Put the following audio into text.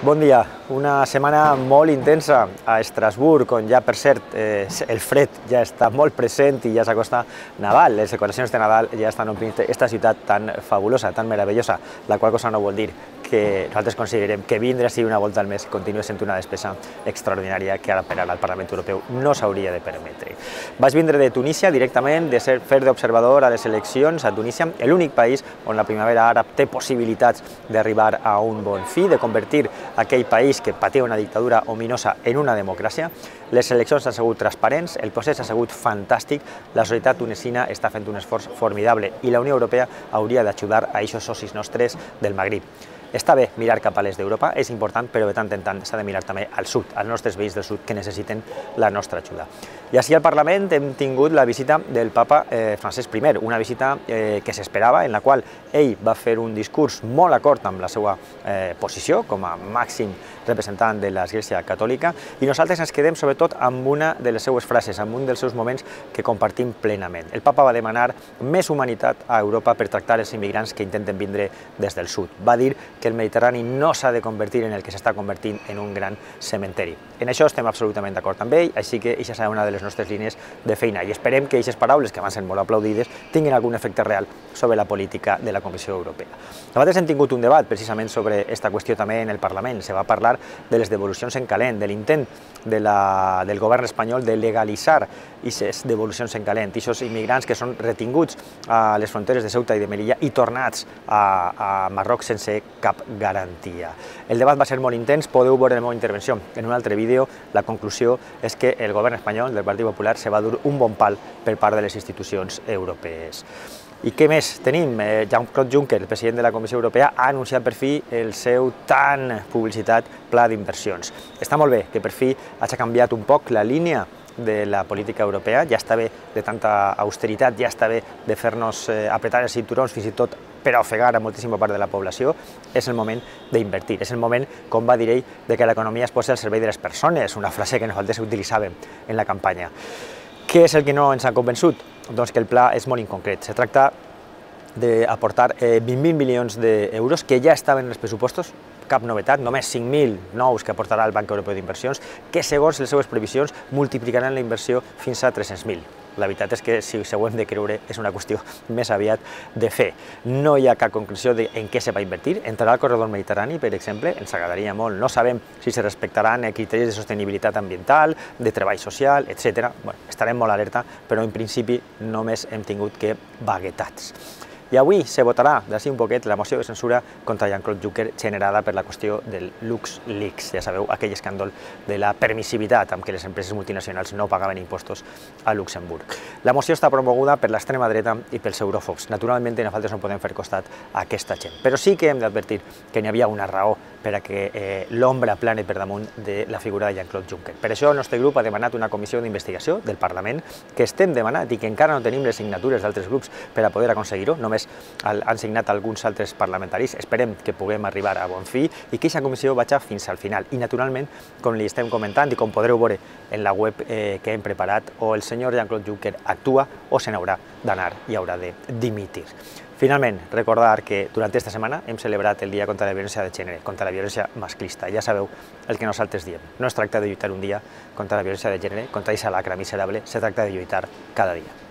Bon dia. Una setmana molt intensa a Estrasburg, on ja, per cert, el fred ja està molt present i ja s'acosta Nadal. Les decoracions de Nadal ja estan omplint aquesta ciutat tan fabulosa, tan meravellosa, la qual cosa no vol dir que nosaltres considerem que vindre així una volta al mes continua sent una despesa extraordinària que ara per ara el Parlament Europeu no s'hauria de permetre. Vaig vindre de Tunísia directament, de fer d'observador a les eleccions a Tunísia, l'únic país on la primavera àrab té possibilitats d'arribar a un bon fi, de convertir aquell país que patia una dictadura ominosa en una democràcia. Les eleccions han sigut transparents, el procés ha sigut fantàstic, la societat tunesina està fent un esforç formidable i la Unió Europea hauria d'ajudar a aquests socis nostres del Magrib. Està bé mirar cap a l'est d'Europa, és important, però de tant en tant s'ha de mirar també al sud, als nostres veïns del sud que necessiten la nostra ajuda. I així al Parlament hem tingut la visita del papa Francesc I, una visita que s'esperava, en la qual ell va fer un discurs molt d'acord amb la seva posició com a màxim representant de l'Església Catòlica, i nosaltres ens quedem sobretot amb una de les seues frases, amb un dels seus moments que compartim plenament. El papa va demanar més humanitat a Europa per tractar els immigrants que intenten vindre des del sud. Va dir que el Mediterrani no s'ha de convertir en el que s'està convertint en un gran cementeri. En això estem absolutament d'acord amb ell, així que aquesta serà una de les nostres línies de feina i esperem que aquestes paraules, que van ser molt aplaudides, tinguin algun efecte real sobre la política de la Comissió Europea. Nosaltres hem tingut un debat precisament sobre aquesta qüestió també en el Parlament. Se va parlar de les devolucions en calent, de l'intent del govern espanyol de legalitzar aquestes devolucions en calent, aquests immigrants que són retinguts a les fronteres de Ceuta i de Melilla i tornats a Marroc sense cap garantia. El debat va ser molt intens, podeu veure la meva intervenció en un altre vídeo. La conclusió és que el govern espanyol del Partit Popular se va dur un bon pal per part de les institucions europees. I què més tenim? Jean-Claude Juncker, el president de la Comissió Europea, ha anunciat per fi el seu tan publicitat pla d'inversions. Està molt bé que per fi hagi canviat un poc la línia de la política europea, ja està bé de tanta austeritat, ja està bé de fer-nos apretar els cinturons, fins i tot per a ofegar a moltíssima part de la població. És el moment d'invertir, és el moment, com va dir ell, de que l'economia es posi al servei de les persones, una frase que nosaltres utilitzàvem en la campanya. Què és el que no ens ha convençut? Doncs que el pla és molt inconcret. Se tracta d'aportar 20.000 milions d'euros que ja estaven en els pressupostos, cap novetat, només 5.000 nous que aportarà el Banc Europeu d'Inversions, que segons les seves previsions multiplicaran la inversió fins a 300.000. La veritat és que, si ho hem de creure, és una qüestió més aviat de fer. No hi ha cap concreció en què se va invertir. Entrarà al corredor mediterrani, per exemple, ens agradaria molt. No sabem si se respectaran criteris de sostenibilitat ambiental, de treball social, etc. Estarem molt alerta, però en principi només hem tingut que vaguetats. I avui se votarà, d'ací un poquet, la moció de censura contra Jean-Claude Juncker generada per la qüestió del LuxLeaks. Ja sabeu, aquell escàndol de la permissivitat amb què les empreses multinacionals no pagaven impostos a Luxemburg. La moció està promoguda per l'extrema dreta i pels euròfobs. Naturalment, nosaltres no podem fer costat a aquesta gent, però sí que hem d'advertir que n'hi havia una raó per a que l'ombra plane per damunt de la figura de Jean-Claude Juncker. Per això el nostre grup ha demanat una comissió d'investigació del Parlament, que estem demanant i que encara no tenim les signatures d'altres grups per a poder aconseguir-ho, només han signat alguns altres parlamentaris. Esperem que puguem arribar a bon fi i que aquesta comissió vagi fins al final. I naturalment, com li estem comentant i com podreu veure en la web que hem preparat, o el senyor Jean-Claude Juncker actua o se n'haurà d'anar i haurà de dimitir. Finalment, recordar que durant aquesta setmana hem celebrat el Dia contra la Violència de Gènere, contra la violència masclista. Ja sabeu el que nosaltres diem. No es tracta de lluitar un dia contra la violència de gènere, contra aquesta lacra miserable, se tracta de lluitar cada dia.